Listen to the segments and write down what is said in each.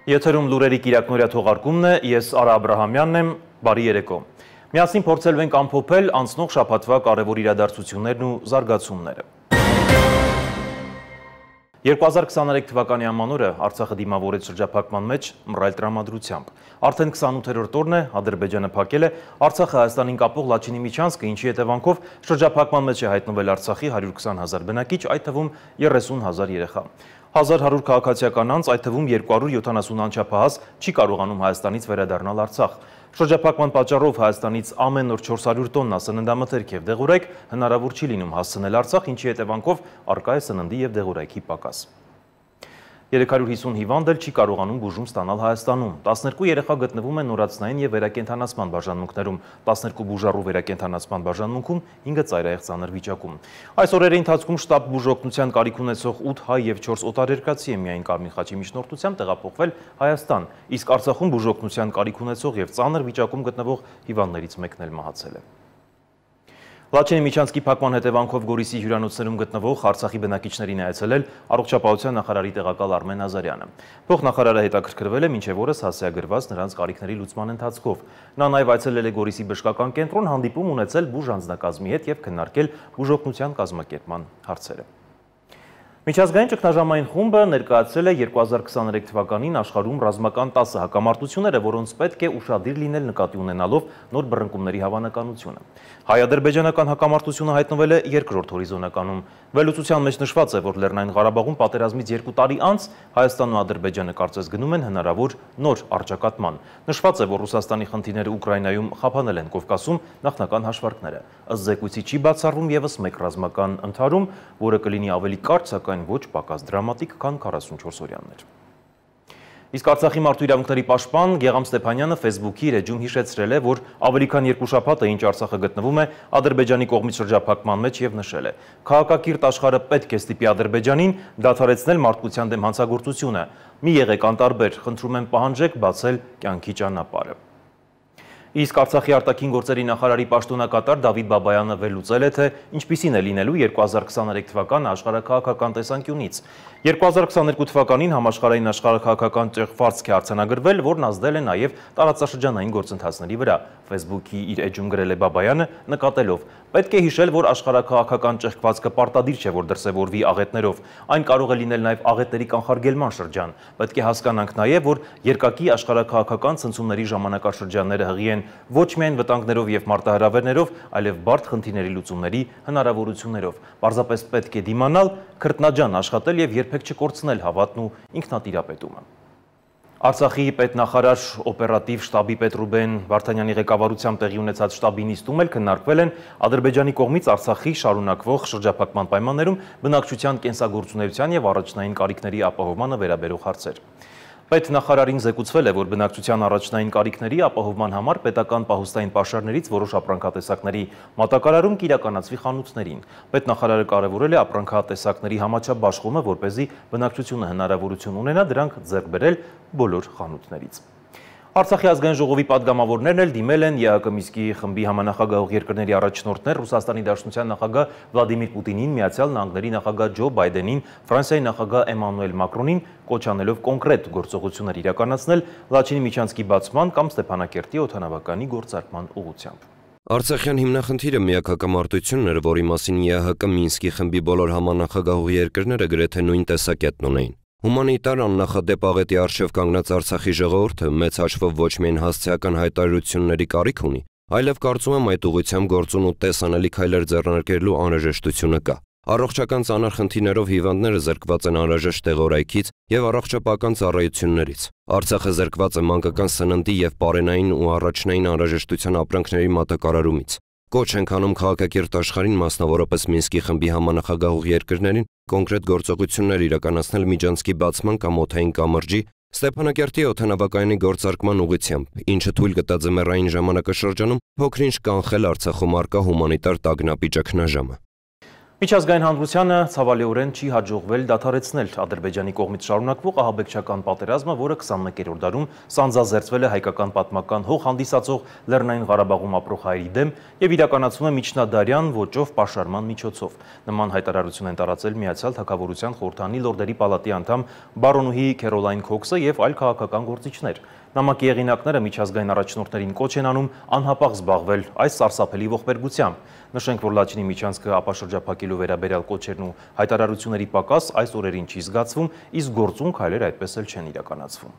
Եթերում լուրերի կիրակնօրյա թողարկումն է, ես Արա Աբրահամյանն եմ, բարի երեկո։ Միասին փորձելու ենք ամփոփել անցնող շաբաթվա կարևոր իրադարձություններն ու զարգացումները։ 2023 թվականի ամանորը Արցախը դիմավորեց շրջափակման մեջ մռայլ տրամադրությամբ։ Արդեն 28-րդ օրն է Ադրբեջանը փակել է Արցախը Հայաստանին կապող Լաչինի միջանցքը, ինչի հետևանքով շրջափակման մեջ է հայտնվել Արցախի 120,000 բնակիչ, այդ թվում 30,000 երեխա։ 1100 քաղաքացիական անձ, այդ թվում 270 անչափահաս չի կարողանում Հայաստանից վերադառնալ Արցախ։ Շրջափակման պատճառով Հայաստանից ամեն օր 400 տոննա սննդամթերք և դեղորայք հնարավոր չի լինում հասցնել Արցախ, ինչի հետևանքով առկա է սննդի և դեղորայքի պակաս։ 350 հիվանդ էլ չի կարողանում բուժում ստանալ Հայաստանում։ 12 երեխա գտնվում են նորացնային և վերակենդանացման բաժանմունքներում, 12 բուժառու վերակենդանացման բաժանմունքում, 5-ը ծայրահեղ ծանր վիճակում։ Այս օրերի ընթացքում շտաբ բուժօգնության կարիք ունեցող 8 հայ և 4 օտարերկրացի է միայն Կարմիր խաչի միջնորդությամբ տեղափոխվել Հայաստան, իսկ Արցախում բուժօգնության կարիք ունեցող և ծանր վիճակում գտնվող հիվանդներից մեկն էլ մահացել է։ Լաչինի միջանցքի փակման հետևանքով Գորիսի հյուրանոցներում գտնվող Արցախի բնակիչներին է այցելել առողջապահության նախարարի տեղակալ Արմեն Ազարյանը։ Փոխնախարարը հետաքրքրվել է մինչև օրս հասցեագրված նրանց կարիքների լուծման ընթացքով։ Նա նաև այցելել է Գորիսի բժշկական կենտրոն, հանդիպում ունեցել բուժանձնակազմի հետ և քննարկել բուժօգնության կազմակերպման հարցերը։ Միջազգային ճգնաժամային խումբը ներկայացրել է 2023 թվականին աշխարհում ռազմական 10 հակամարտությունները, որոնց պետք է ուշադիր լինել նկատի ունենալով նոր բռնկումների հավանականությունը։ Հայ-ադրբեջանական հակամարտությունը հայտնվել է երկրորդ հորիզոնականում։ Վերլուծության մեջ նշված է, որ Լեռնային Ղարաբաղում պատերազմից 2 տարի անց Հայաստանն ու Ադրբեջանը կարծես գնում են հնարավոր նոր առճակատման։ Նշված է, որ Ռուսաստանի խնդիրները Ուկրաինայում խափանել են Կովկասում նախնական հաշվարկները։ Ըստ զեկույցի չի բացառվում ևս մեկ ռազմական ընդհարում, որը կլինի ավելի կարճ, սակայն ոչ պակաս դրամատիկ, քան 44 օրյաններ։ Իսկ Արցախի մարդու իրավունքների պաշտպան Գեղամ Ստեփանյանը Facebook-ի իր էջում հիշեցրել է, որ ավելի քան 2 շաբաթ է ինչ Արցախը գտնվում է Ադրբեջանի կողմից շրջափակման մեջ և նշել է. «Քաղաքակիրթ աշխարհը պետք է ստիպի Ադրբեջանին դադարեցնել մարդկության դեմ հանցագործությունը։ Մի եղեք անտարբեր, խնդրում եմ պահանջեք բացել կյանքի ճանապարհը»։ Իսկ Արցախի արտաքին գործերի նախարարի պաշտոնակատար Դավիթ Բաբայանը վերլուծել է, թե ինչպիսին է լինելու 2023 թվականը աշխարհաքաղաքական տեսանկյունից։ 2022 թվականին համաշխարհային աշխարհաքաղաքական ճեղքվածք է արձանագրվել, որն ազդել է նաև տարածաշրջանային գործընթացների վրա։ Facebook-ի իր էջում գրել է Բաբայանը, նկատելով. «Պետք է հիշել, որ աշխարհաքաղաքական ճեղքվածքը պարտադիր չէ, որ դրսևորվի աղետներով։ Այն կարող է լինել նաև աղետների կանխարգելման շրջան։ Պետք է հասկանանք նաև, որ երկակի աշխարհաքաղաքական ցնցումների ժամանակաշրջանները հղի են ոչ միայն վտանգներով և մարտահրավերներով, այլև բարդ խնդիրների լուծումների հնարավորություններով։ Պարզապես պետք է դիմանալ, քրտնաջան աշխատել և երբեք չկորցնել հավատն ու ինքնատիրապետումը»։ Արցախի պետնախարար օպերատիվ շտաբի պետ Ռուբեն Վարդանյանի ղեկավարությամբ տեղի ունեցած շտաբի նիստում էլ քննարկվել են Ադրբեջանի կողմից Արցախի շարունակվող շրջափակման պայմաններում բնակչության կենսագործունեության և առաջնային կարիքների ապահովմանը վերաբերող հարցեր։ Պետնախարարին զեկուցվել է, որ բնակչության առաջնային կարիքների ապահովման համար պետական պահուստային պաշարներից որոշ ապրանքատեսակների մատակարարում կիրականացվի խանութներին։ Պետնախարարը կարևորել է ապրանքատեսակների համաչափ բաշխումը, որպեսզի բնակչությունը հնարավորություն ունենա դրանք ձեռք բերել բոլոր խանութներից։ Արցախի ազգային ժողովի պատգամավորներն էլ դիմել են ԵԱՀԿ Մինսկի խմբի համանախագահող երկրների առաջնորդներ Ռուսաստանի Դաշնության նախագահ Վլադիմիր Պուտինին, Միացյալ Նահանգների նախագահ Ջո Բայդենին, Ֆրանսիայի նախագահ Էմանուել Մակրոնին, կոչ անելով կոնկրետ գործողություններ իրականացնել Լաչինի միջանցքի բացման կամ Ստեփանակերտի օդանավականի գործարկման ուղղությամբ։ Արցախյան հիմնախնդիրը միակ հակամարտությունն էր, որի մասին ԵԱՀԿ Մինսկի խմբի բոլոր համանախագահող երկրները գրեթե նույն տեսակետն ունեին։ Հումանիտար աննախադեպ աղետի առջև կանգնած Արցախի ժողովուրդը մեծ հաշվով ոչ միայն հասցեական հայտարարությունների կարիք ունի, այլև կարծում եմ այդ ուղղությամբ գործուն ու տեսանելի քայլեր ձեռնարկելու անհրաժեշտությունը կա։ Առողջական ծանր խնդիրներով հիվանդները զրկված են անհրաժեշտ տեղորայքից և առողջապահական ծառայություններից։ Արցախը զրկված է մանկական սննդի և պարենային ու առաջնային անհրաժեշտության ապրանքների մատակարարումից։ Կոչ ենք անում քաղաքակիրթ աշխարհին, մասնավորապես Մինսկի խմբի համանախագահող երկրներին, կոնկրետ գործողություններ իրականացնել միջանցքի բացման կամ օդային կամրջի, Ստեփանակերտի օդանավակայանի գործարկման ուղղությամբ, ինչը թույլ կտա ձմեռային ժամանակաշրջանում փոքր-ինչ կանխել Արցախում առկա հումանիտար տագնապի ճգնաժամը։ Միջազգային հանրությանը ցավալիորեն չի հաջողվել դադարեցնել Ադրբեջանի կողմից շարունակվող ահաբեկչական պատերազմը, որը 21-րդ դարում սանձազերծվել է հայկական պատմական հող հանդիսացող Լեռնային Ղարաբաղում ապրող հայերի դեմ եւ իրականացվում է միջնադարյան ոճով պաշարման միջոցով։ Նման հայտարարություն են տարածել Միացյալ Թագավորության խորհրդանի լորդերի պալատի անդամ բարոնուհի Քերոլայն Քոքսը եւ այլ քաղաքական գործիչներ։ Նամակի եղինակները միջազգային առաջնորդներին կոչ են անում անհապաղ զբաղվել այս սարսափելի ողբերգությամբ։ Նշենք, որ Լաչինի միջանցքը ապաշրջափակելու վերաբերյալ կոչերն ու հայտարարությունների պակաս այս օրերին չի զգացվում, իսկ գործուն քայլեր այդպես էլ չեն իրականացվում։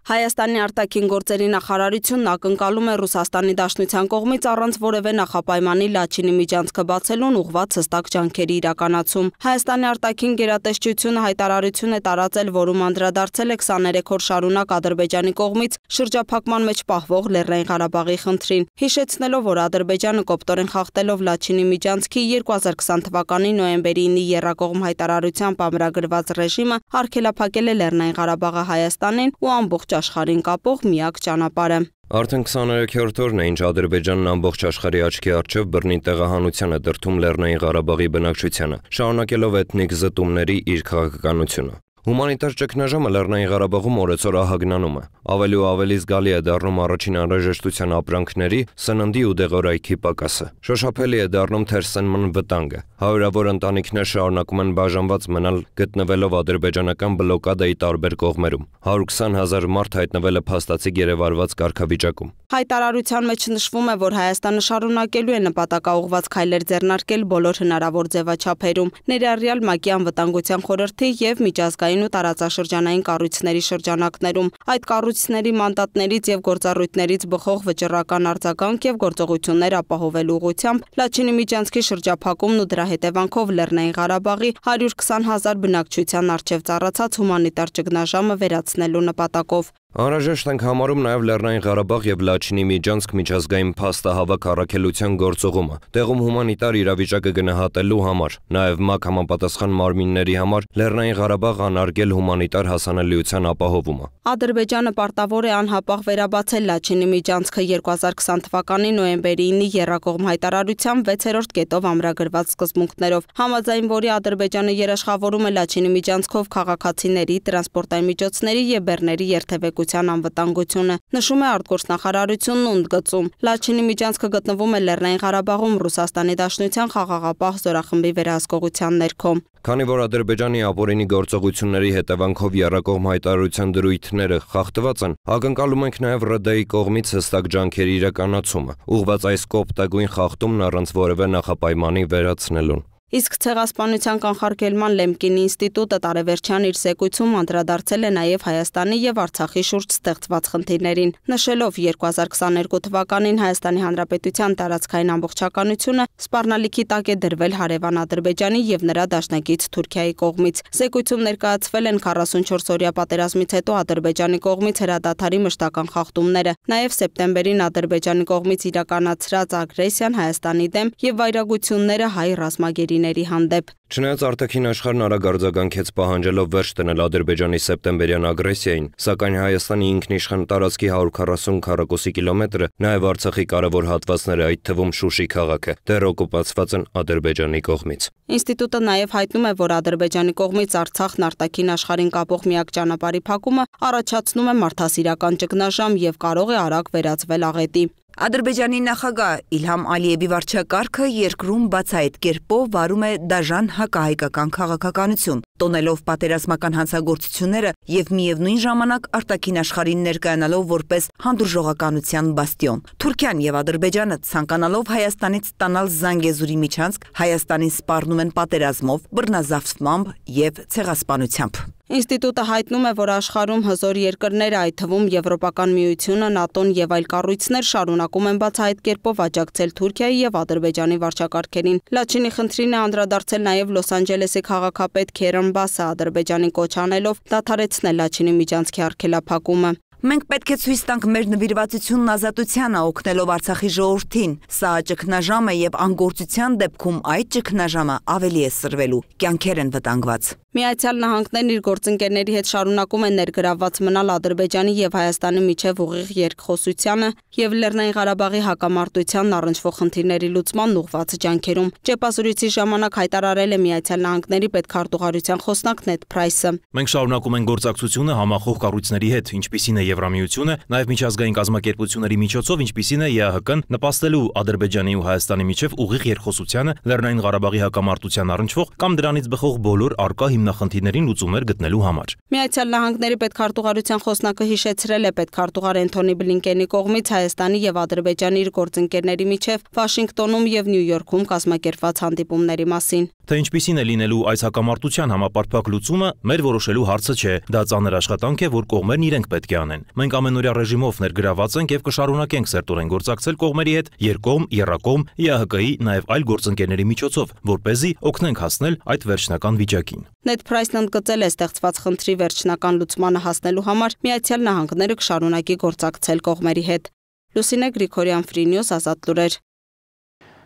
Հայաստանի արտաքին գործերի նախարարությունն ակնկալում է Ռուսաստանի Դաշնության կողմից առանց որևէ նախապայմանի Լաչինի միջանցքը բացելուն ուղղված հստակ ջանքերի իրականացում։ Հայաստանի արտաքին գերատեսչությունը հայտարարություն է տարածել, որում անդրադարձել է 23 օր շարունակ Ադրբեջանի կողմից շրջափակման մեջ պահվող Լեռնային Ղարաբաղի խնդրին, հիշեցնելով, որ Ադրբեջանը կոպտորեն խախտելով Լաչինի միջանցքի 2020 թվականի նոյեմբերի 9-ի եռակողմ հայտարարությամբ ամրագրված ռեժիմը արգելափակել է Լեռնային Ղարաբաղը Հայաստանին ու ամբողջ աշխարհին կապող միակ ճանապարհը։ Արդեն 23-րդ օրն է, ինչ Ադրբեջանն ամբողջ աշխարհի աչքի առջև բռնի տեղահանության է դրդում Լեռնային Ղարաբաղի բնակչությանը, շարունակելով էթնիկ զտումների իր քաղաքականությունը։ Հումանիտար ճգնաժամը Լեռնային Ղարաբաղում օրեցօր ահագնանում է։ Ավելի ու ավելի զգալի է դառնում առաջին անհրաժեշտության ապրանքների, սննդի ու դեղորայքի պակասը։ Շոշափելի է դառնում թերսնման վտանգը։ Հարյուրավոր ընտանիքներ շարունակում են բաժանված մնալ, գտնվելով ադրբեջանական բլոկադայի տարբեր կողմերում։ 120,000 մարդ հայտնվել է փաստացի գերեվարված կարգավիճակում։ Հայտարարության մեջ նշվում է, որ Հայաստանը շարունակելու է նպատակաուղղված քայլեր ձեռնարկել բոլոր հնարավոր ձևաչափերում, ներառյալ ՄԱԿ-ի անվտանգության խորհրդի եւ միջազգային ու տարածաշրջանային կառույցների շրջանակներում։ Այդ կառույցների մանդատներից եւ գործառույթներից բխող վճռական արձագանք եւ գործողություններ ապահովելու ուղղությամբ Լաչինի միջանցքի շրջափակումն ու դրա հետևանքով Լեռնային Ղարաբաղի 120,000 բնակչության առջև ծառացած հումանիտար ճգնաժամը վերացնելու նպատակով։ Անհրաժեշտ ենք համարում նաև Լեռնային Ղարաբաղ եւ Լաչինի միջանցք միջազգային փաստահավաք առաքելության գործողումը, տեղում հումանիտար իրավիճակը գնահատելու համար, նաև ՄԱԿ համապատասխան մարմինների համար Լեռնային Ղարաբաղ անարգել հումանիտար հասանելիության ապահովումը։ Ադրբեջանը պարտավոր է անհապաղ վերաբացել Լաչինի միջանցքը 2020 թվականի նոյեմբերի 9-ի եռակողմ հայտարարությամբ 6-րդ կետով ամրագրված սկզբունքներով, համաձայն որի Ադրբեջանը երաշխավորում է Լաչինի միջանցքով քաղաքացիների, տրանսպորտային միջոցների եւ բեռների երթևեկության անվտանգությունը։ Նշում է արտգործնախարարությունն ու ընդգծում. Լաչինի միջանցքը գտնվում է Լեռնային Ղարաբաղում Ռուսաստանի Դաշնության խաղաղապահ զորախմբի վերահսկողության ներքո։ Քանի որ Ադրբեջանի ապօրինի գործողությունների հետևանքով եռակողմ հայտարարության դրույթները խախտված են, ակնկալում ենք նաև ՌԴ-ի կողմից հստակ ջանքերի իրականացումը, ուղղված այս կոպտագույն խախտումն առանց որևէ նախապայմանի վերացնելուն։ Իսկ Ցեղասպանության կանխարգելման Լեմկինի ինստիտուտը տարեվերջյան իր զեկույցում անդրադարձել է նաև Հայաստանի եւ Արցախի շուրջ ստեղծված խնդիրներին, նշելով 2022 թվականին Հայաստանի Հանրապետության տարածքային ամբողջականությունը սպառնալիքի տակ է դրվել հարևան Ադրբեջանի եւ նրա դաշնակից Թուրքիայի կողմից։ Զեկույցում ներկայացվել են 44-օրյա պատերազմից հետո Ադրբեջանի կողմից հրադադարի մշտական խախտումները, նաև սեպտեմբերին Ադրբեջանի կողմից իրականացրած ագրեսիան Հայաստանի դեմ եւ վայրագությունները հայ ռազմագերիների հանդեպ։ Չնայած արտաքին աշխարհն արագ արձագանքեց պահանջելով վերջ դնել Ադրբեջանի սեպտեմբերյան ագրեսիային, սակայն Հայաստանի ինքնիշխան տարածքի 140 քառակուսի կիլոմետրը, նաև Արցախի կարևոր հատվածները, այդ թվում Շուշի քաղաքը, դեռ օկուպացված են Ադրբեջանի կողմից։ Ինստիտուտը նաև հայտնում է, որ Ադրբեջանի կողմից Արցախն արտաքին աշխարհին կապող միակ ճանապարհի փակումը առաջացնում է մարդասիրական ճգնաժամ եւ կարող է արագ վերածվել աղետի։ Ադրբեջանի նախագահ Իլհամ Ալիևի վարչակարգը երկրում բացահայտ կերպով վարում է դաժան հակահայկական քաղաքականություն, տոնելով պատերազմական հանցագործությունները եւ միևնույն ժամանակ արտաքին աշխարհին ներկայանալով որպես հանդուրժողականության բաստիոն։ Թուրքիան եւ Ադրբեջանը ցանկանալով Հայաստանից ստանալ Զանգեզուրի միջանցք, Հայաստանին սպառնում են պատերազմով, բռնազավթմամբ եւ ցեղասպանությամբ։ Ինստիտուտը հայտնում է, որ աշխարհում հզոր երկրները, այդ թվում Եվրոպական միությունը, ՆԱՏՕ-ն եւ այլ կառույցներ շարունակում են բացահայտ կերպով աջակցել Թուրքիայի եւ Ադրբեջանի վարչակարգերին։ Լաչինի խնդրին է անդրադարձել նաեւ Լոս Անջելեսի քաղաքապետ Քերեն Բասը, Ադրբեջանի կոչ անելով դադարեցնել Լաչինի միջանցքի արգելափակումը։ Մենք պետք է ցույց տանք մեր նվիրվածությունն ազատությանը, օգնելով Արցախի ժողովրդին։ Սա ճգնաժամ է եւ անգործության դեպքում այդ ճգնաժամը ավելի է սրվելու, կյանքեր են վտանգված։ Միացյալ Նահանգներն իր գործընկերների հետ շարունակում են ներգրավված մնալ Ադրբեջանի եւ Հայաստանի միջև ուղիղ երկխոսությանը եւ Լեռնային Ղարաբաղի հակամարտությանն առնչվող խնդիրների լուծմանն ուղղված ջանքերում։ Ճեպազրույցի ժամանակ հայտարարել է Միացյալ Նահանգների պետքարտուղարության խոսնակ Նեդ Փրայսը։ Մենք շարունակում ենք գործակցությունը համախոհ կառույցների հետ, ինչպիսին է Եվրամիությունը, նաև միջազգային կազմակերպությունների միջոցով, ինչպիսին է ԵԱՀԿ-ն, նպաստելու Ադրբեջանի ու Հայաստանի միջև ուղիղ երկխոսությանը, Լեռնային Ղարաբաղի հակամարտության առնչվող կամ դրանից բխող բոլոր առկա հիմնախնդիրներին լուծումներ գտնելու համար։ Միացյալ Նահանգների պետքարտուղարության խոսնակը հիշեցրել է պետքարտուղար Էնթոնի Բլինկենի կողմից Հայաստանի եւ Ադրբեջանի իր գործընկերների միջև Վաշինգտոնում եւ Նյու Յորքում կազմակերպված հանդիպումների մասին։ Թե ինչպիսին է լինելու այս հակամարտության համապարփակ լուծումը, մեր որոշելու հարցը չէ, դա ծանր աշխատանք է, որ կողմերն իրենք պետք է անեն։ Մենք ամենօրյա ռեժիմով ներգրաված ենք եւ կշարունակենք սերտորեն գործակցել կողմերի հետ երկկողմ, եռակողմ, ԵԱՀԿ-ի, նաեւ այլ գործընկերների միջոցով, որպեսզի օգնենք հասնել այդ վերջնական վիճակին։ Նեդ Փրայսն ընդգծել է ստեղծված խնդրի վերջնական լուծմանը հասնելու համար Միացյալ Նահանգները կշարունակի գործակցել կողմերի հետ։ Լուսինե Գրիգորյան, Free News, Ազատ լուրեր։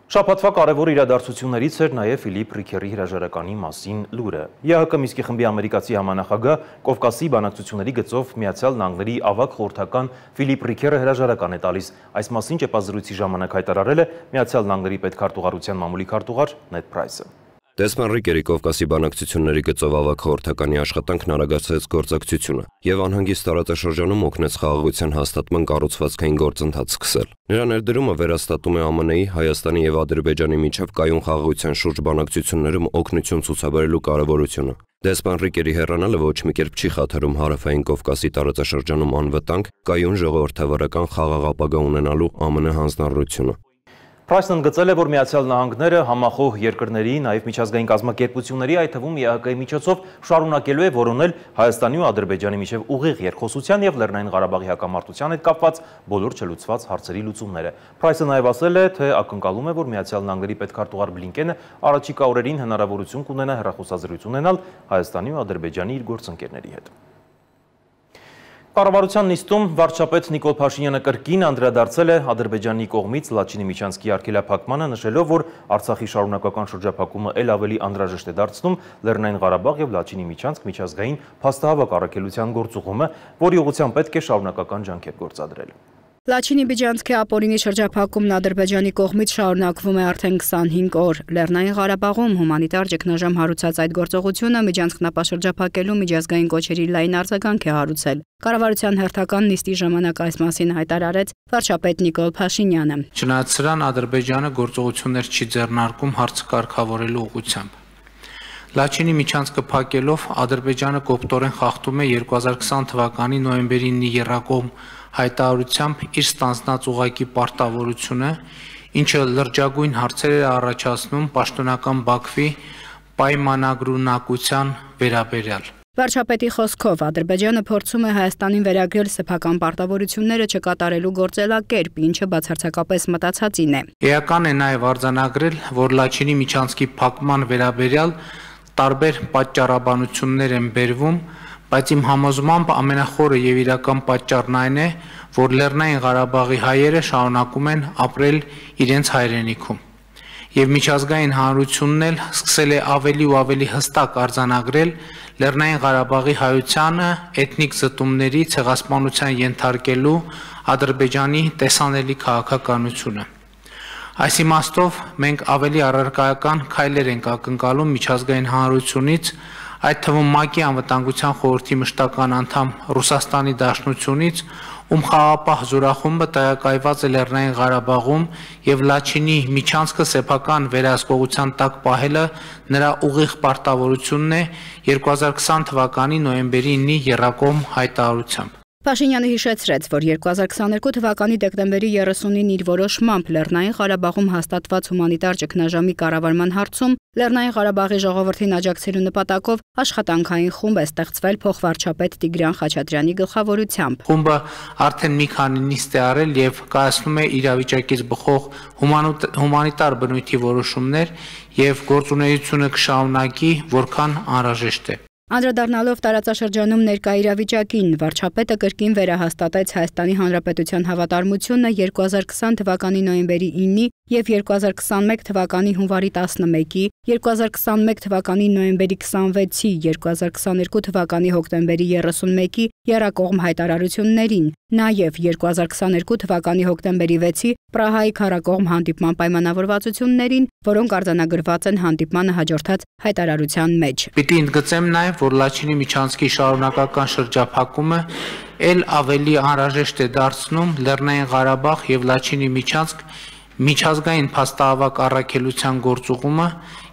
Շաբաթվա կարևոր իրադարձություններից էր նաև Ֆիլիպ Ռիքերի հրաժարականի մասին լուրը։ ԵԱՀԿ Մինսկի խմբի ամերիկացի համանախագահ Կովկասի բանակցությունների գծով Միացյալ Նահանգների ավագ խորհրդական Ֆիլիպ Ռիքերը հրաժարական է տալիս։ Այս մասին ճեպազրույցի ժամանակ հայտարարել է Միացյալ Նահանգների պետքարտուղարության մամուլի քարտուղար Նեդ Փրայսը։ Դեսմոն Ռիկերի Կովկասի բանակցությունների գծով ավագ խորհրդականի աշխատանքն արագացրեց գործակցությունը եւ անհանգիստ տարածաշրջանում օգնեց խաղաղության հաստատման կառուցվածքային գործընթաց սկսել։ Նրա ներդրումը վերաստատում է ԱՄՆ-ի, Հայաստանի եւ Ադրբեջանի միջև կայուն խաղաղության շուրջ բանակցություններում օգնություն ցուցաբերելու կարեւորությունը։ Դեսմոն Ռիկերի հեռանալը ոչ մի կերպ չի խաթարում Հարավային Կովկասի տարածաշրջանում անվտանգ, կայուն ժողովրդավարական խաղաղ ապագա ունենալու ԱՄՆ հանձնառությունը։ Փրայսն ընդգծել է, որ Միացյալ Նահանգները համախոհ երկրների, նաև միջազգային կազմակերպությունների, այդ թվում ԵԱՀԿ-ի միջոցով շարունակելու է որոնել Հայաստանի ու Ադրբեջանի միջև ուղիղ երկխոսության եւ Լեռնային Ղարաբաղի հակամարտության հետ կապված բոլոր չլուծված հարցերի լուծումները։ Փրայսը նաև ասել է, թե ակնկալում է, որ Միացյալ Նահանգների պետքարտուղար Բլինկենը առաջիկա օրերին հնարավորություն կունենա հեռախոսազրույց ունենալ Հայաստանի ու Ադրբեջանի իր գործընկերների հետ։ Կառավարության նիստում վարչապետ Նիկոլ Փաշինյանը կրկին անդրադարձել է Ադրբեջանի կողմից Լաչինի միջանցքի արգելափակմանը, նշելով, որ Արցախի շարունակական շրջափակումը ել ավելի անհրաժեշտ է դարձնում Լեռնային Ղարաբաղ եւ Լաչինի միջանցք միջազգային փաստահավաք առաքելության գործուղումը, որի ուղղությամբ պետք է շարունակական ջանքեր գործադրել։ Լաչինի միջանցքի ապօրինի շրջափակումն Ադրբեջանի կողմից շարունակվում է արդեն 25 օր։ Լեռնային Ղարաբաղում հումանիտար ճգնաժամ հարուցած այդ գործողությունը միջանցքն ապաշրջափակելու միջազգային կոչերի լայն արձագանք է հարուցել։ Կառավարության հերթական նիստի ժամանակ այս մասին հայտարարեց վարչապետ Նիկոլ Փաշինյանը։ Չնայած սրան Ադրբեջանը գործողություններ չի ձեռնարկում հարցը կարգավորելու ուղղությամբ։ Լաչինի միջանցքը փակելով Ադրբեջանը կոպտորեն խախտում է 2020 թվականի նոյեմբերի 9-ի եռակողմ հայտարարությամբ իր ստանձնած ուղղակի պարտավորությունը, ինչը լրջագույն հարցեր է առաջացնում պաշտոնական Բաքվի պայմանագրունակության վերաբերյալ։ Վարչապետի խոսքով Ադրբեջանը փորձում է Հայաստանին վերագրել սեփական պարտավորությունները չկատարելու գործելակերպ, ինչը բացարձակապես մտածածին է։ Էական է նաև արձանագրել, որ Լաչինի միջանցքի փակման վերաբերյալ տարբեր պատճառաբանություններ են բերվում, բայց իմ համոզմամբ ամենախորը եւ իրական պատճառն այն է, որ Լեռնային Ղարաբաղի հայերը շարունակում են ապրել իրենց հայրենիքում։ Եվ միջազգային հանրությունն էլ սկսել է ավելի ու ավելի հստակ արձանագրել Լեռնային Ղարաբաղի հայությանը էթնիկ զտումների ցեղասպանության ենթարկելու Ադրբեջանի տեսանելի քաղաքականությունը։ Այս իմաստով մենք ավելի առարկայական քայլեր ենք ակնկալում միջազգային հանրությունից, այդ թվում ՄԱԿ-ի անվտանգության խորհրդի մշտական անդամ Ռուսաստանի Դաշնությունից, ում խաղաղապահ զորախումբը տեղակայված է Լեռնային Ղարաբաղում եւ Լաչինի միջանցքը սեփական վերահսկողության տակ պահելը նրա ուղիղ պարտավորությունն է 2020 թվականի նոյեմբերի 9-ի եռակողմ հայտարարությամբ։ Փաշինյանը հիշեցրեց, որ 2022 թվականի դեկտեմբերի 30-ին իր որոշմամբ Լեռնային Ղարաբաղում հաստատված հումանիտար ճգնաժամի կառավարման հարցում Լեռնային Ղարաբաղի ժողովրդին աջակցելու նպատակով աշխատանքային խումբ է ստեղծվել փոխվարչապետ Տիգրան Խաչատրյանի գլխավորությամբ։ Խումբը արդեն մի քանի նիստ է արել եւ կայացնում է իրավիճակից բխող հումանիտար բնույթի որոշումներ եւ գործունեությունը կշարունակի, որքան անհրաժեշտ է։ Անդրադառնալով տարածաշրջանում ներկա իրավիճակին, վարչապետը կրկին վերահաստատեց Հայաստանի Հանրապետության հավատարմությունը 2020 թվականի նոյեմբերի 9-ի և 2021 թվականի հունվարի 11-ի, 2021 թվականի նոյեմբերի 26-ի, 2022 թվականի հոկտեմբերի 31-ի եռակողմ հայտարարություններին, նաև 2022 թվականի հոկտեմբերի 6-ի Պրահայի քառակողմ հանդիպման պայմանավորվածություններին, որոնք արձանագրված են հանդիպմանը հաջորդած հայտարարության մեջ։ Պիտի ընդգծեմ նաև, որ Լաչինի միջանցքի շարունակական շրջափակումը ել ավելի անհրաժեշտ է դարձնում Լեռնային Ղարաբաղ և Լաչինի միջանցք միջազգային փաստահավաք առաքելության գործուղումը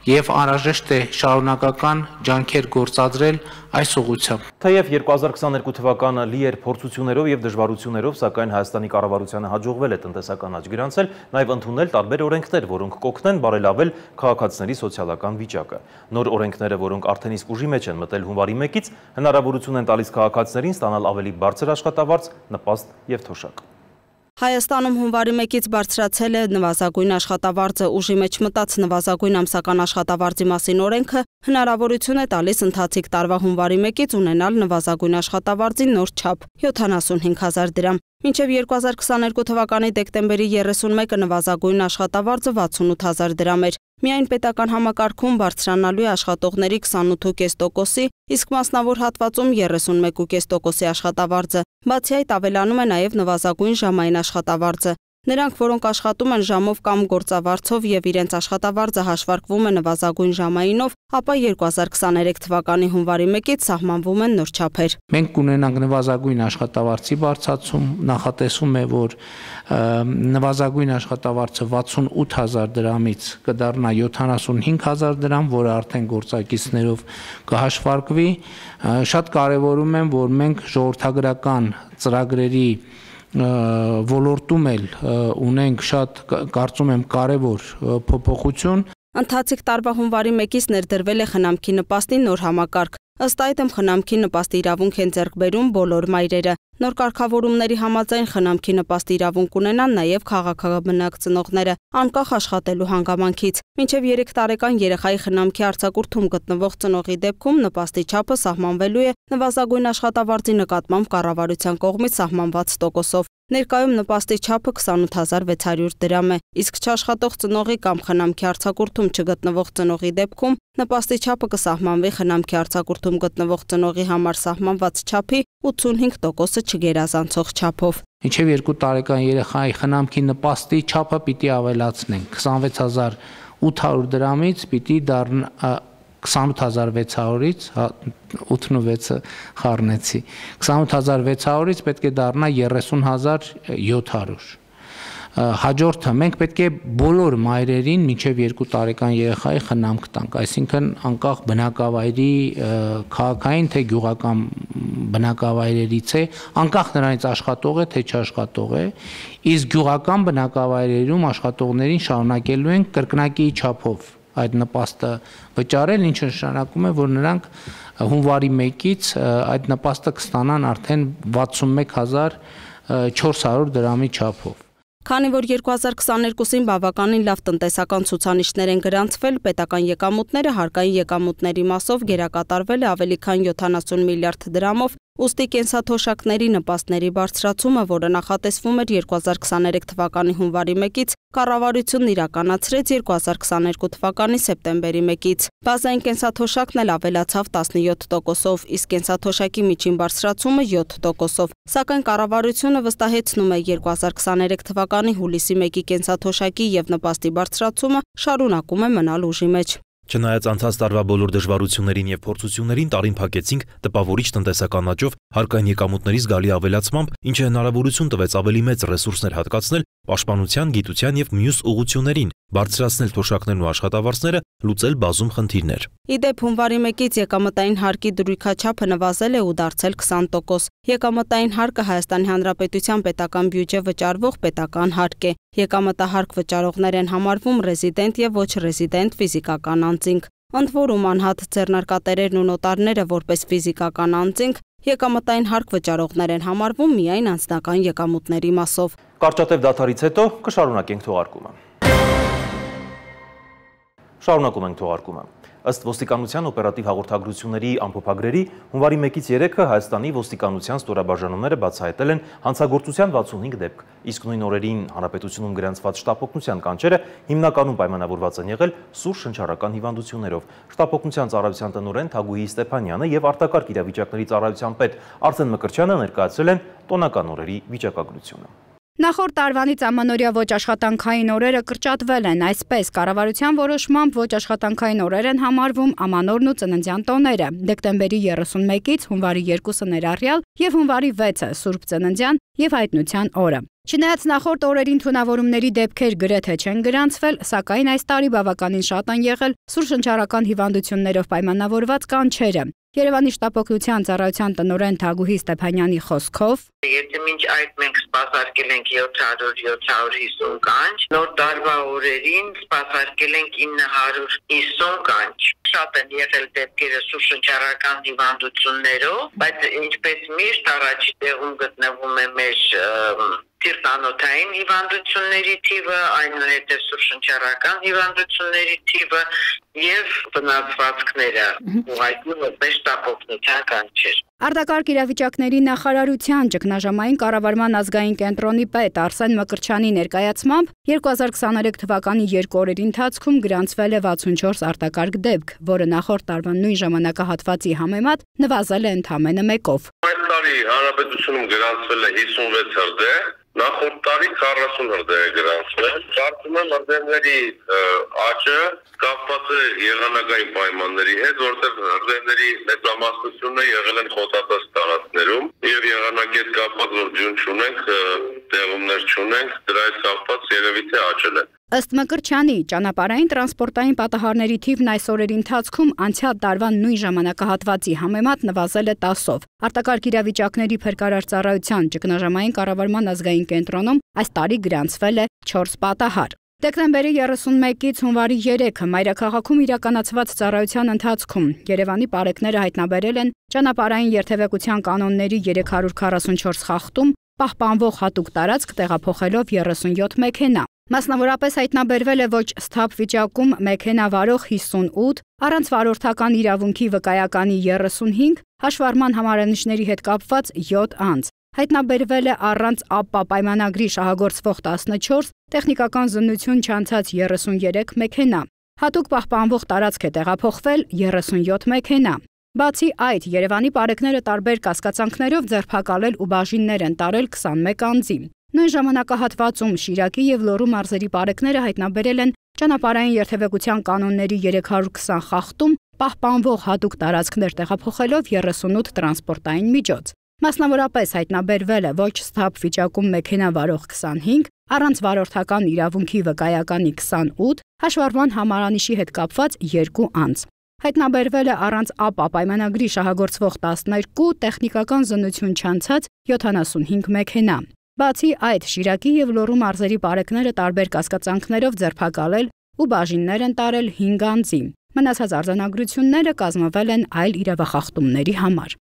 և անհրաժեշտ է շարունակական ջանքեր գործադրել այս ուղղությամբ։ Թեև 2022 թվականը լի էր փորձություններով և դժվարություններով, սակայն Հայաստանի կառավարությանը հաջողվել է տնտեսական աճ գրանցել, նաև ընդունել տարբեր օրենքներ, որոնք կօգնեն բարելավել քաղաքացիների սոցիալական վիճակը։ Նոր օրենքները, որոնք արդեն իսկ ուժի մեջ են մտել հունվարի 1-ից, հնարավորություն են տալիս քաղաքացիներին ստանալ ավելի բարձր աշխատավարձ, նպաստ և թոշակ։ Հայաստանում հունվարի 1-ից բարձրացել է նվազագույն աշխատավարձը, ուժի մեջ մտած նվազագույն ամսական աշխատավարձի մասին օրենքը հնարավորություն է տալիս ընթացիկ տարվա հունվարի 1-ից ունենալ նվազագույն աշխատավարձի նոր չափ 75,000 դրամ։ Մինչև 2022 թվականի դեկտեմբերի 31-ը նվազագույն աշխատավարձը 68,000 դրամ էր։ Միայն պետական համակարգում բարձրանալու է աշխատողների 28.5%-ի, իսկ մասնավոր հատվածում 31.5%-ի աշխատավարձը։ Բացի այդ ավելանում է նաև նվազագույն ժամային աշխատավարձը։ Նրանք, որոնք աշխատում են ժամով կամ գործավարձով և իրենց աշխատավարձը հաշվարկվում է նվազագույն ժամայինով, ապա 2023 թվականի հունվարի 1-ից սահմանվում են նոր չափեր։ Մենք կունենանք նվազագույն աշխատավարձի բարձրացում, նախատեսվում է, որ նվազագույն աշխատավարձը 68,000 դրամից կդառնա 75,000 դրամ, որը արդեն գործակիցներով կհաշվարկվի։ Շատ կարևորում եմ, որ մենք ժողովրդագրական ծրագրերի ոլորտում էլ ունենք շատ, կարծում եմ, կարևոր փոփոխություն։ Ընթացիկ տարվա հունվարի 1-ից ներդրվել է խնամքի նպաստի նոր համակարգ։ Ըստ այդմ խնամքի նպաստի իրավունք են ձեռք բերում բոլոր մայրերը։ Նոր կարգավորումների համաձայն խնամքի նպաստի իրավունք ունենան նաև քաղաքաբնակ ծնողները, անկախ աշխատելու հանգամանքից։ Մինչև 3 տարեկան երեխայի խնամքի արձակուրդում գտնվող ծնողի դեպքում նպաստի չափը սահմանվելու է նվազագույն աշխատավարձի նկատմամբ կառավարության կողմից սահմանված տոկոսով։ Ներկայում նպաստի չափը 28,600 դրամ է, իսկ չաշխատող ծնողի կամ խնամքի արձակուրդում չգտնվող ծնողի դեպքում նպաստի չափը կսահմանվի խնամքի արձակուրդում գտնվող ծնողի համար սահմանված չափի 85%-ը չգերազանցող չափով։ Մինչև 2 տարեկան երեխայի խնամքի նպաստի չափը պիտի ավելացնենք 26,800 դրամից պիտի դառնա 28,600-ից 86-ը խառնեցի 28,600-ից պետք է դառնա 30,700։ Հաջորդը մենք պետք է բոլոր մայրերին մինչև 2 տարեկան երեխայի խնամք տանք, այսինքն անկախ բնակավայրի քաղաքային թե գյուղական բնակավայրերից է, անկախ նրանից աշխատող է թե չաշխատող է, իսկ գյուղական բնակավայրերում աշխատողներին շարունակելու են կրկնակի չափով այդ նպաստը վճարել, ինչը նշանակում է, որ նրանք հունվարի 1-ից այդ նպաստը կստանան արդեն 61,400 դրամի չափով։ Քանի որ 2022-ին բավականին լավ տնտեսական ցուցանիշներ են գրանցվել, պետական եկամուտները հարկային եկամուտների մասով գերակատարվել է ավելի քան 70 միլիարդ դրամով, ուստի կենսաթոշակների նպաստների բարձրացումը, որը նախատեսվում էր 2023 թվականի հունվարի 1-ից, կառավարությունն իրականացրեց 2022 թվականի սեպտեմբերի 1-ից։ Բազային կենսաթոշակն էլ ավելացավ 17%-ով, իսկ կենսաթոշակի միջին բարձրացումը 7%-ով։ Սակայն կառավարությունը վստահեցնում է 2023 թվականի հուլիսի 1-ի կենսաթոշակի և նպաստի բարձրացումը շարունակում է մնալ ուժի մեջ։ Չնայած անցած տարվա բոլոր դժվարություններին և փորձություններին տարին փակեցինք տպավորիչ տնտեսական աճով, հարկային եկամուտների զգալի ավելացմամբ, ինչը հնարավորություն տվեց ավելի մեծ ռեսուրսներ հատկացնել պաշտպանության, գիտության և մյուս ուղղություններին, բարձրացնել թոշակներն ու աշխատավարձները, լուծել բազում խնդիրներ։ Ի դեպ, հունվարի 1-ից եկամտային հարկի դրույքաչափը նվազել է ու դարձել 20%։ Եկամտային հարկը Հայաստանի Հանրապետության պետական բյուջե վճարվող պետական հարկ է։ Եկամտահարկ վճարողներ են համարվում ռեզիդենտ և ոչ ռեզիդենտ ֆիզիկական անձինք։ Ընդ որում անհատ ձեռնարկատերերն ու նոտարները որպես ֆիզիկական անձինք եկամտային հարկ վճարողներ են համարվում միայն անձնական եկամուտների մասով։ Կարճատև դադարից հետո կշարունակենք թողարկումը։ Շարունակում ենք թողարկումը։ Ըստ ոստիկանության օպերատիվ հաղորդագրությունների ամփոփագրերի, հունվարի 1-ից 3-ը Հայաստանի ոստիկանության ստորաբաժանումները բացահայտել են հանցագործության 65 դեպք, իսկ նույն օրերին հանրապետությունում գրանցված շտապօգնության կանչերը հիմնականում պայմանավորված են եղել սուր շնչառական հիվանդություններով։ Շտապօգնության ծառայության տնօրեն Թագուհի Ստեփանյանը եւ արտակարգ իրավիճակների ծառայության պետ Արսեն Մկրտչյանը ներկայացրել են տոնական օրերի վիճակագրությունը։ Նախորդ տարվանից ամանորյա ոչ աշխատանքային օրերը կրճատվել են, այսպես կառավարության որոշմամբ ոչ աշխատանքային օրեր են համարվում ամանորն ու ծննդյան տոները, դեկտեմբերի 31-ից հունվարի 2-ը ներառյալ եւ հունվարի 6-ը Սուրբ Ծննդյան եւ Հայտնության օրը։ Չնայած նախորդ օրերին թունավորումների դեպքեր գրեթե չեն գրանցվել, սակայն այս տարի բավականին շատ են եղել սուր շնչառական հիվանդություններով պայմանավորված կանչերը։ Երևանի շտապօգնության ծառայության տնօրեն Թագուհի Ստեփանյանի խոսքով Եթե մինչ այդ մենք սպասարկել ենք 700-750 կանչ, նոր տարվա օրերին սպասարկել ենք 950 կանչ։ Շատ են եղել դեպքերը սուր շնչառական հիվանդություններով, բայց ինչպես միշտ առաջի տեղում գտնվում է մեր տիրտանոթային հիվանդությունների թիվը, այնուհետև սուր շնչառական հիվանդությունների թիվը եւ վնասվածքները ուղղակի որպես շտապօգնության կանչեր։ Արտակարգ իրավիճակների նախարարության ճգնաժամային կառավարման ազգային կենտրոնի պետ Արսեն Մկրտչյանի ներկայացմամբ 2023 թվականի 2 օրերի ընթացքում գրանցվել է 64 արտակարգ դեպք, որը նախորդ տարվա նույն ժամանակահատվածի համեմատ նվազել է ընդամենը 1-ով։ Այս տարի հանրապետությունում գրանցվել է 56 հրդեհ, նախորդ տարի 40 հրդեհ է գրանցվել։ Կարծում եմ հրդեհների աճը կապված է եղանակային պայմանների հետ, որտեղ հրդեհների մեծամասնությունը եղել են խոտատես տարածքներում եւ եղանակի հետ կապված որ ջուն չունենք, տեղումներ չունենք, դրա հետ կապված երևի թե աճել է։ Ըստ Մկրտչյանի, ճանապարհային տրանսպորտային պատահարների թիվն այս օրերի ընթացքում անցյալ տարվա նույն ժամանակահատվածի համեմատ նվազել է 10-ով։ Արտակարգ իրավիճակների փրկարար ծառայության ճգնաժամային կառավարման ազգային կենտրոնում այս տարի գրանցվել է 4 պատահար։ Դեկտեմբերի 31-ից հունվարի 3-ը մայրաքաղաքում իրականացված ծառայության ընթացքում Երևանի պարեկները հայտնաբերել են ճանապարհային երթևեկության կանոնների 344 խախտում, պահպանվող հատուկ տարածք տեղափոխելով 37 մեքենա։ Մասնավորապես հայտնաբերվել է ոչ սթափ վիճակում մեքենա վարող 58, առանց վարորդական իրավունքի վկայականի 35, հաշվառման համարանիշների հետ կապված 7 անձ։ Հայտնաբերվել է առանց ԱՊՊԱ պայմանագրի շահագործվող 14, տեխնիկական զննություն չանցած 33 մեքենա։ Հատուկ պահպանվող տարածք է տեղափոխվել 37 մեքենա։ Բացի այդ, Երևանի պարեկները տարբեր կասկածանքներով ձերբակալել ու բաժիններ են տարել 21 անձի։ Նույն ժամանակահատվածում Շիրակի եւ Լոռու մարզերի պարեկները հայտնաբերել են ճանապարհային երթևեկության կանոնների 320 խախտում, պահպանվող հատուկ տարածքներ տեղափոխելով 38 տրանսպորտային միջոց։ Մասնավորապես հայտնաբերվել է ոչ սթափ վիճակում մեքենա վարող 25, առանց վարորդական իրավունքի վկայականի 28, հաշվառման համարանիշի հետ կապված 2 անձ։ Հայտնաբերվել է առանց ԱՊՊԱ պայմանագրի շահագործվող 12, տեխնիկական զննություն չանցած 75 մեքենա։ Բացի այդ, Շիրակի եւ Լոռու մարզերի պարեկները տարբեր կասկածանքներով ձերբակալել ու բաժիններ են տարել 5 անձի։ Մնացած արձանագրությունները կազմվել են այլ իրավախախտումների համար։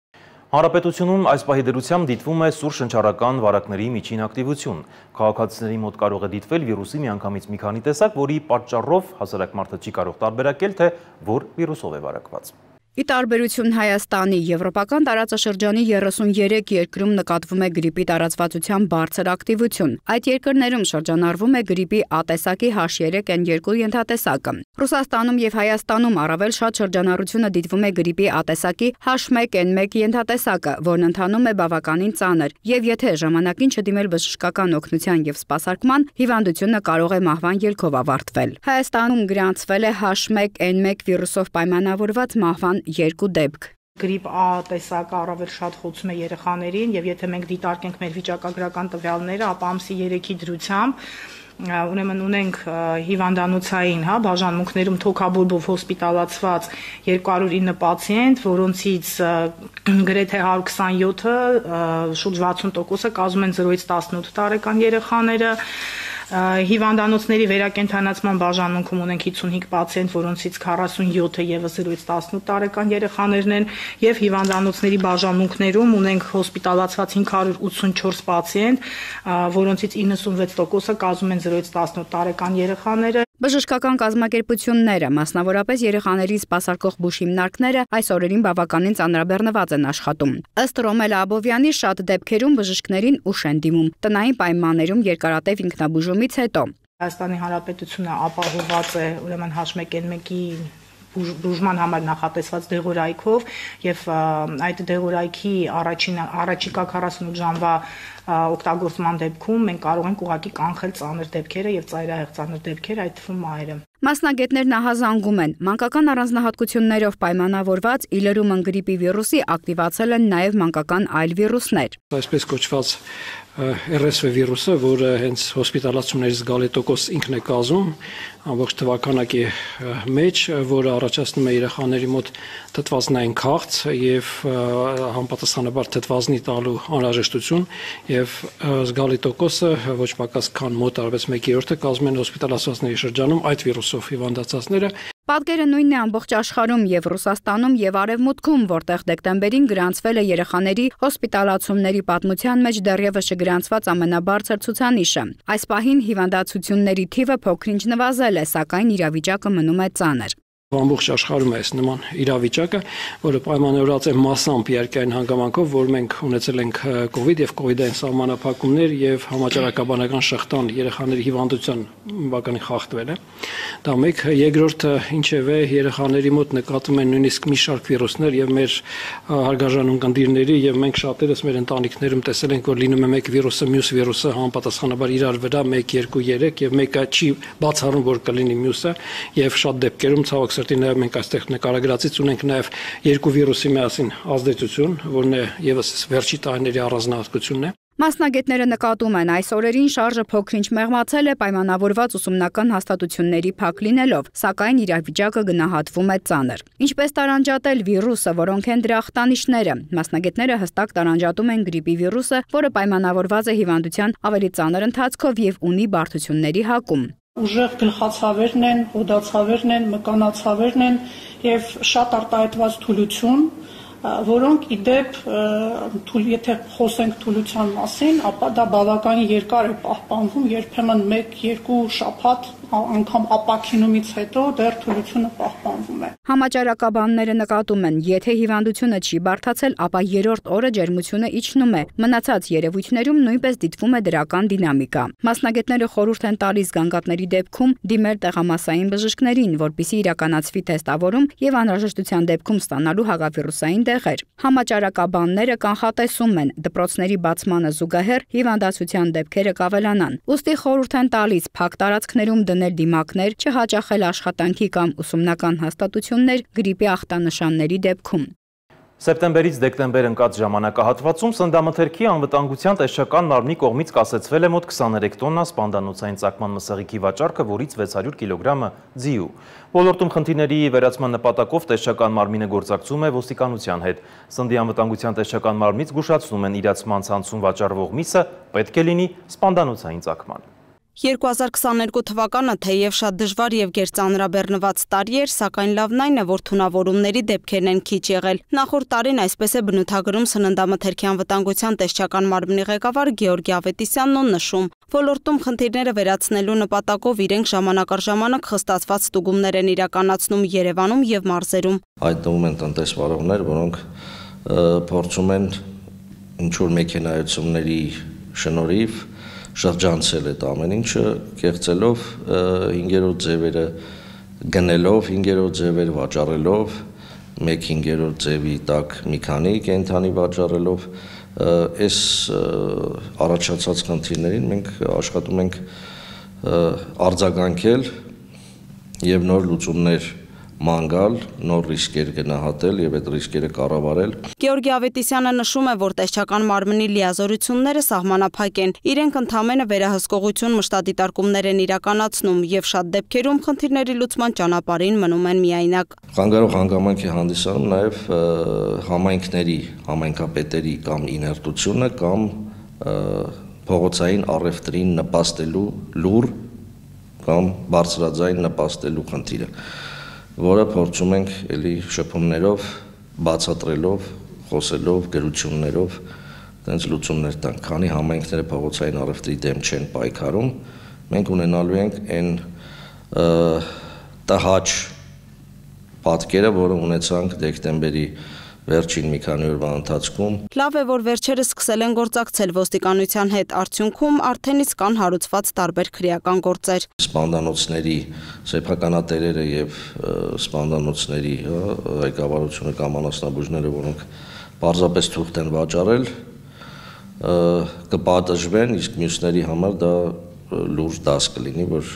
Հանրապետությունում այս պահի դրությամբ դիտվում է սուր շնչառական վարակների միջին ակտիվություն։ Քաղաքացիների մոտ կարող է դիտվել վիրուսի միանգամից մի քանի տեսակ, որի պատճառով հասարակ մարդը չի կարող տարբերակել, թե որ վիրուսով է վարակված։ Ի տարբերություն Հայաստանի, եվրոպական տարածաշրջանի 33 երկրում նկատվում է գրիպի տարածվածության բարձր ակտիվություն։ Այդ երկրներում շրջանառվում է գրիպի A տեսակի H3N2 ենթատեսակը։ Ռուսաստանում եւ Հայաստանում առավել շատ շրջանառությունը դիտվում է գրիպի A տեսակի H1N1 ենթատեսակը, որն ընթանում է բավականին ծանր, եւ եթե ժամանակին չդիմել բժշկական օգնության եւ սպասարկման, հիվանդությունը կարող է մահվան ելքով ավարտվել։ Հայաստանում գրանցվել է H1N1 վիրուսով պայմանավորված մահվան 2 դեպք։ Գրիպ A տեսակը առավել շատ խոցում է երեխաներին եւ եթե մենք դիտարկենք մեր վիճակագրական տվյալները, ապա ամսի 3-ի դրությամբ ուրեմն ունենք հիվանդանոցային, բաժանմունքներում թոքաբորբով հոսպիտալացված 209 պացիենտ, որոնցից գրեթե 127-ը, շուրջ 60%-ը կազմում են 0-ից 18 տարեկան երեխաները։ Հիվանդանոցների վերակենդանացման բաժանմունքում ունենք 55 պացիենտ, որոնցից 47-ը եւս 0-ից 18 տարեկան երեխաներն են, եւ հիվանդանոցների բաժանմունքներում ունենք հոսպիտալացված 584 պացիենտ, որոնցից 96%-ը կազմում են 0-ից 18 տարեկան երեխաները։ Բժշկական կազմակերպությունները, մասնավորապես երեխաների սպասարկող բուժ հիմնարկները այս օրերին բավականին ծանրաբեռնված են աշխատում։ Ըստ Ռոմելա Աբովյանի, շատ դեպքերում բժիշկներին ուշ են դիմում տնային պայմաններում երկարատև ինքնաբուժումից հետո։ Հայաստանի Հանրապետությունը ապահովված է ուրեմն H1N1-ի բուժման համար նախատեսված դեղորայքով եւ այդ դեղորայքի առաջիկա 48 ժամվա օգտագործման դեպքում մենք կարող ենք ուղղակի կանխել ծանր դեպքերը եւ ծայրահեղ ծանր դեպքեր, այդ թվում մայրը։ Մասնագետներն ահազանգում են, մանկական առանձնահատկություններով պայմանավորված իլերումն գրիպի վիրուսի ակտիվացել են նաև մանկական այլ վիրուսներ։ Այսպես կոչված RSV վիրուսը, որը հենց հոսպիտալացումների զգալի տոկոս ինքն է կազմում, ամբողջ թվականակի մեջ, որը առաջացնում է երեխաների մոտ թթվազնային քաղց եւ համապատասխանաբար թթվազնի տալու անհրաժեշտություն եւ զգալի տոկոսը ոչ պակաս քան մոտ արվեց 1/3-ը կազմում են հոսպիտալացվածների շրջանում այդ վիրուսով հիվանդացածները։ Պատկերը նույնն է ամբողջ աշխարհում եւ Ռուսաստանում եւ Արևմուտքում, որտեղ դեկտեմբերին գրանցվել է երեխաների հոսպիտալացումների պատմության մեջ դեռևս չգրանցված ամենաբարձր ցուցանիշը։ Այս պահին հիվանդացությունների թիվը փոքրինչ նվազել է, սակայն իրավիճակը մնում է ծանր։ Ամբողջ աշխարհում է այս նման իրավիճակը, որը պայմանավորված է massամբ երկայն հանգամանքով, որ մենք ունեցել ենք COVID եւ COVID-ային սահմանափակումներ եւ համաճարակաբանական շղթան երեխաների հիվանդության բավականին խախտվել է։ Դա մեկ, երկրորդը ինչևէ երեխաների մոտ նկատվում են նույնիսկ մի շարք վիրուսներ եւ մեր հարգարժան ունկնդիրների եւ մենք շատերս մեր ընտանիքներում տեսել ենք, որ լինում է մեկ վիրուսը մյուս վիրուսը համապատասխանաբար իրար վրա 1, 2, 3 եւ մեկը չի բացառում, որ կլինի մյուսը եւ շատ դեպքերում ցավոք Նաև մենք այստեղ նկարագրածից ունենք նաև երկու վիրուսի միասին ազդեցություն, որն է եւս վերջի տարիների առանձնահատկությունն է։ Մասնագետները նկատում են, այս օրերին շարժը փոքրինչ մեղմացել է պայմանավորված ուսումնական հաստատությունների փակ լինելով, սակայն իրավիճակը գնահատվում է ծանր։ Ինչպես տարանջատել վիրուսը, որոնք են դրա ախտանիշները։ Մասնագետները հստակ տարանջատում են գրիպի վիրուսը, որը պայմանավորված է հիվանդության ավելի ծանր ընթացքով եւ ունի բարդությունների հակում։ Ուժեղ գլխացավերն են, հոդացավերն են, մկանացավերն են եւ շատ արտահայտված թուլություն, որոնք իդեպ եթե խոսենք թուլության մասին, ապա դա բավականին երկար է պահպանվում, երբեմն 1-2 շաբաթ անգամ ապաքինումից հետո դեռ թուլությունը պահպանվում է։ Համաճարակաբանները նկատում են, եթե հիվանդությունը չի բարդացել, ապա երրորդ օրը ջերմությունը իջնում է։ Մնացած երևույթներում նույնպես դիտվում է դրական դինամիկա։ Մասնագետները խորհուրդ են տալիս գանգատների դեպքում դիմել տեղամասային բժիշկներին, որպեսզի իրականացվի թեստավորում եւ անհրաժեշտության դեպքում ստանալու հակավիրուսային դեղեր։ Համաճարակաբանները կանխատեսում են, դպրոցների բացմանը զուգահեռ հիվանդացության դեպքերը կավելանան։ Ուստի խորհուրդ են տալիս փակ տարածքներում դնել դիմակներ, չհաճախել աշխատանքի կամ ուսումնական հաստատություններ գրիպի ախտանշանների դեպքում։ Սեպտեմբերից դեկտեմբեր ընկած ժամանակահատվածում սննդամթերքի անվտանգության տեսչական մարմնի կողմից կասեցվել է մոտ 23 տոննա սպանդանոցային ծակման մսեղիքի վաճառքը, որից 600 կիլոգրամը ձիու։ Ոլորտում խնդիրների վերացման նպատակով տեսչական մարմինը գործակցում է ոստիկանության հետ։ Սննդի անվտանգության տեսչական մարմնից զգուշացնում են իրացման ցանցում վաճառվող միսը պետք է լինի սպանդանոցային ծակման։ 2022 թվականը թեև շատ դժվար եւ գերծանրաբեռնված տարի էր, սակայն լավն այն է, որ թունավորումների դեպքերն են քիչ եղել։ Նախորդ տարին այսպես է բնութագրում սննդամթերքի անվտանգության տեսչական մարմնի ղեկավար Գեորգի Ավետիսյանն ու նշում, ոլորտում խնդիրները վերացնելու նպատակով իրենք ժամանակ առ ժամանակ խստացված ստուգումներ են իրականացնում Երևանում եւ մարզերում։ Հայտնվում են տնտեսվարողներ, որոնք փորձում են ինչ-որ մեքենայությունների շնորհիվ շրջանցել այդ ամեն ինչը, կեղծելով 5-րդ ձևերը գնելով, 5-րդ ձևեր վաճառելով, 1/5-րդ ձևի տակ մի քանի կենթանի վաճառելով, այս առաջացած խնդիրներին մենք աշխատում ենք արձագանքել եւ նոր լուծումներ ման գալ, նոր ռիսկեր գնահատել եւ այդ ռիսկերը կառավարել։ Գեորգի Ավետիսյանը նշում է, որ տեսչական մարմնի լիազորությունները սահմանափակ են։ Իրենք ընդհանրապես վերահսկողություն մշտադիտարկումներ են իրականացնում եւ շատ դեպքերում խնդիրների լուծման ճանապարհին մնում են միայնակ։ Խանգարող հանգամանք է հանդիսանում նաեւ համայնքների, համայնքապետերի կամ իներտությունը կամ փողոցային առևտրին նպաստելու լուր կամ բարձրաձայն նպաստելու խնդիրը, որը փորձում ենք էլի շփումներով, բացատրելով, խոսելով, գրություններով տենց լուծումներ տանք, քանի համայնքները փողոցային առևտրի դեմ չեն պայքարում, մենք ունենալու ենք այն տհաճ պատկերը, որը ունեցանք դեկտեմբերի վերջին մի քանի օրվա ընթացքում։ Լավ է, որ վերջերս սկսել են գործակցել ոստիկանության հետ, արդյունքում արդեն իսկ կան հարուցված տարբեր քրեական գործեր։ Սպանդանոցների սեփականատերերը եւ սպանդանոցների ղեկավարությունը կամ անասնաբուժները, որոնք պարզապես թուղթ են վաճառել, կպատժվեն, իսկ մյուսների համար դա լուրջ դաս կլինի, որ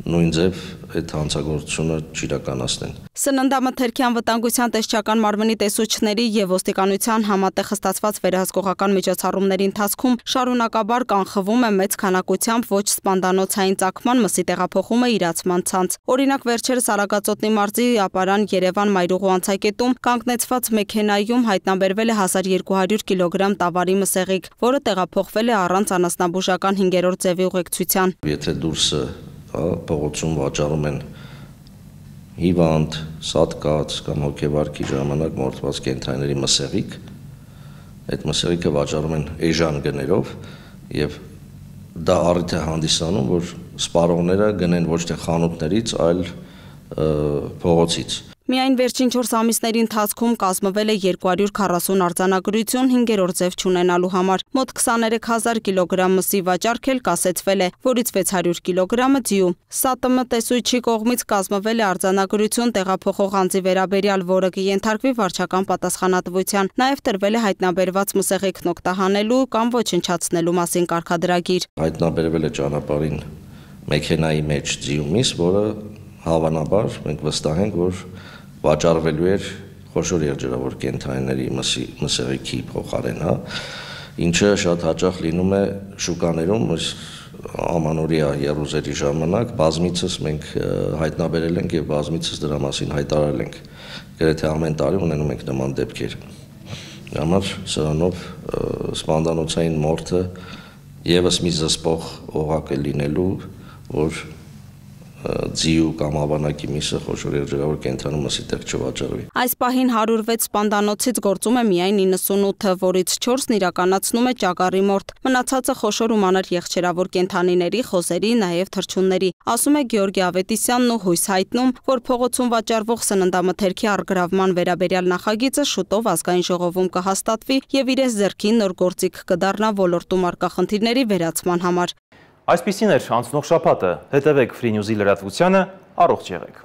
նույն ձև այդ հանցագործությունը չիրականացնեն։ Սննդամթերքի անվտանգության տեսչական մարմնի տեսուչների եւ ոստիկանության համատեղ ստացված վերահսկողական միջոցառումների ընթացքում շարունակաբար կանխվում է մեծ քանակությամբ ոչ սպանդանոցային ծագման մսի տեղափոխումը իրացման ցանց։ Օրինակ վերջերս Արագածոտնի մարզի Ապարան Երևան Մայրուղու անցակետում կանգնեցված մեքենայում հայտնաբերվել է 1200 կիլոգրամ տավարի մսեղիկ, որը տեղափոխվել է առանց անասնաբուժական 5-րդ ձևի ուղեկցության։ Եթե դուրսը փողոցում վաճառում են հիվանդ, սատկած կամ հոգեվարքի ժամանակ մորթված կենդանիների մսեղիկ, այդ մսեղիկը վաճառում են էժան գներով եւ դա առիթ է հանդիսանում, որ սպառողները գնեն ոչ թե խանութներից, այլ փողոցից։ Միայն վերջին 4 ամիսների ընթացքում կազմվել է 240 արձանագրություն 5-րդ ձև չունենալու համար։ Մոտ 23000 կիլոգրամ մսի վաճառք էլ կասեցվել է, որից 600 կիլոգրամը ձիու։ ՍԱՏՄ տեսուչի կողմից կազմվել է արձանագրություն տեղափոխող անձի վերաբերյալ, որը կենթարկվի վարչական պատասխանատվության։ Նաև տրվել է հայտնաբերված մսեղիկն օգտահանելու կամ ոչնչացնելու մասին կարգադրագիր։ Հայտնաբերվել է ճանապարհին մեքենայի մեջ ձիու միս, որը հավանաբար մենք վստահ ենք, որ վաճառվելու էր խոշոր երջերավոր կենդանիների մսեղիքի փոխարեն, ինչը շատ հաճախ լինում է շուկաներում, ամանորյա եռուզերի ժամանակ բազմիցս մենք հայտնաբերել ենք եւ բազմիցս դրա մասին հայտարարել ենք։ Գրեթե ամեն տարի ունենում ենք նման դեպքեր։ Համար սրանով սպանդանոցային մորթը եւս մի զսպող օղակ է լինելու, որ ձիու կամ ավանակի միսը խոշոր երջերավոր կենդանու մսի տեղ չվաճառվի։ Այս պահին 106 սպանդանոցից գործում է միայն 98-ը, որից 4-ն իրականացնում է ճագարի մորթ։ Մնացածը խոշոր ու մանր եղջերավոր կենդանիների, խոզերի, նաև թռչունների։ Ասում է Գեորգի Ավետիսյանն ու հույս հայտնում, որ փողոցում վաճառվող սննդամթերքի առգրավման վերաբերյալ նախագիծը շուտով ազգային ժողովում կհաստատվի եւ իրենց ձեռքին նոր գործիք կդառնա ոլորտում առկա խնդիրների վերացման համար։ Այսպիսին էր անցնող շաբաթը, հետևեք Free News-ի լրատվությանը, առողջ եղեք։